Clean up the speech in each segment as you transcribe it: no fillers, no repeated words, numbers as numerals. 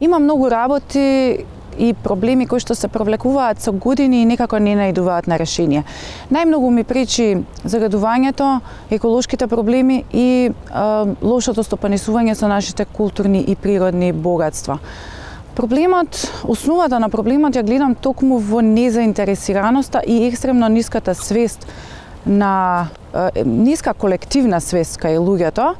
Има многу работи и проблеми кои што се провлекуваат со години и некако не наидуваат на решение. Најмногу ми пречи загадувањето, еколошките проблеми и лошото стопанисување со нашите културни и природни богатства. Проблемот, основата на проблемот ја гледам токму во незаинтересираноста и екстремно ниската свест на ниска колективна свест кај луѓето.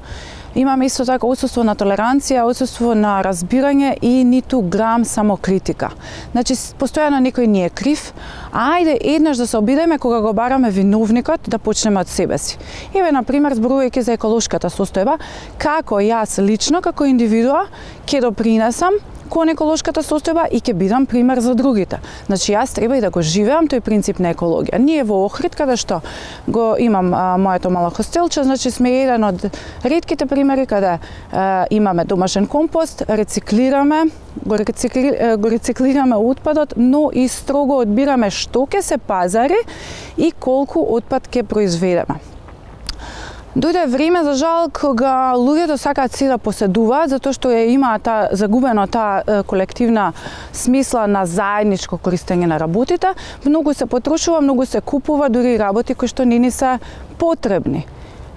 Имаме исто така отсуство на толеранција, отсуство на разбирање и ниту грам самокритика. Значи, постојано некој ни е крив, а ајде еднаш да се обидеме кога го бараме виновникот да почнеме од себе си. Еве, например, зборувајќи за еколошката состојба, како јас лично, како индивидуа, ќе допринесам кон еколошката состојба и ќе бидам пример за другите. Значи, јас треба и да го живеам тој принцип на екологија. Ние во Охрид, каде што го имам моето мало хостелче, значи сме еден од ретките примери каде имаме домашен компост, го рециклираме отпадот, но и строго одбираме што ќе се пазари и колку отпад ќе произведеме. Дојде време, за жал, кога луѓето сакаат се да поседуваат, затоа што имаат загубено таа колективна смисла на заедничко користење на работите. Многу се потрошува, многу се купува, дури и работи кои што не ни се потребни.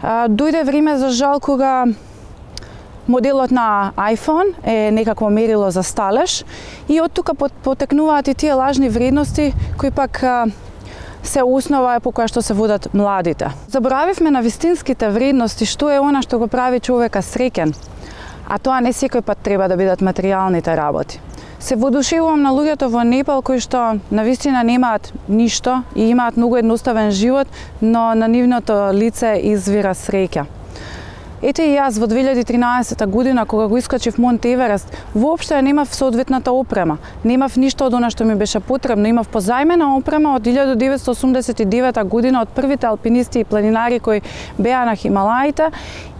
Дојде време, за жал, кога моделот на iPhone е некакво мерило за сталеж и од тука потекнуваат и тие лажни вредности кои пак се основа по која што се водат младите. Заборавивме на вистинските вредности, што е она што го прави човека среќен, а тоа не секој пат треба да бидат материјалните работи. Се воодушевувам на луѓето во Непал кои што навистина немаат ништо и имаат многу едноставен живот, но на нивното лице извира среќа. Ете и јас во 2013 година, кога го искачив Монт Еверест, воопшто немав соодветната опрема. Немав ништо од она што ми беше потребно. Имав позајмена опрема од 1989 година од првите алпинисти и планинари кои беа на Хималаите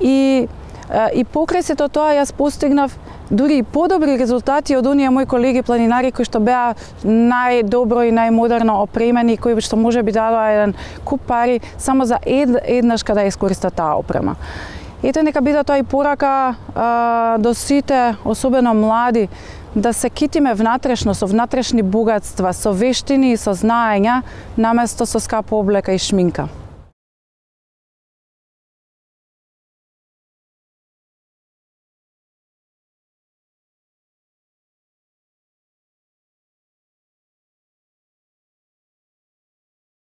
и покрај сето тоа јас постигнав дури и подобри резултати од оние мои колеги планинари кои што беа најдобро и најмодерно опремени, кои што може би дадоа еден куп пари само за еднаш када искористат таа опрема. Ете, нека биде тоа и порака до сите, особено млади, да се китиме внатрешно, со внатрешни богатства, со вештини и со знаења, наместо со скапа облека и шминка.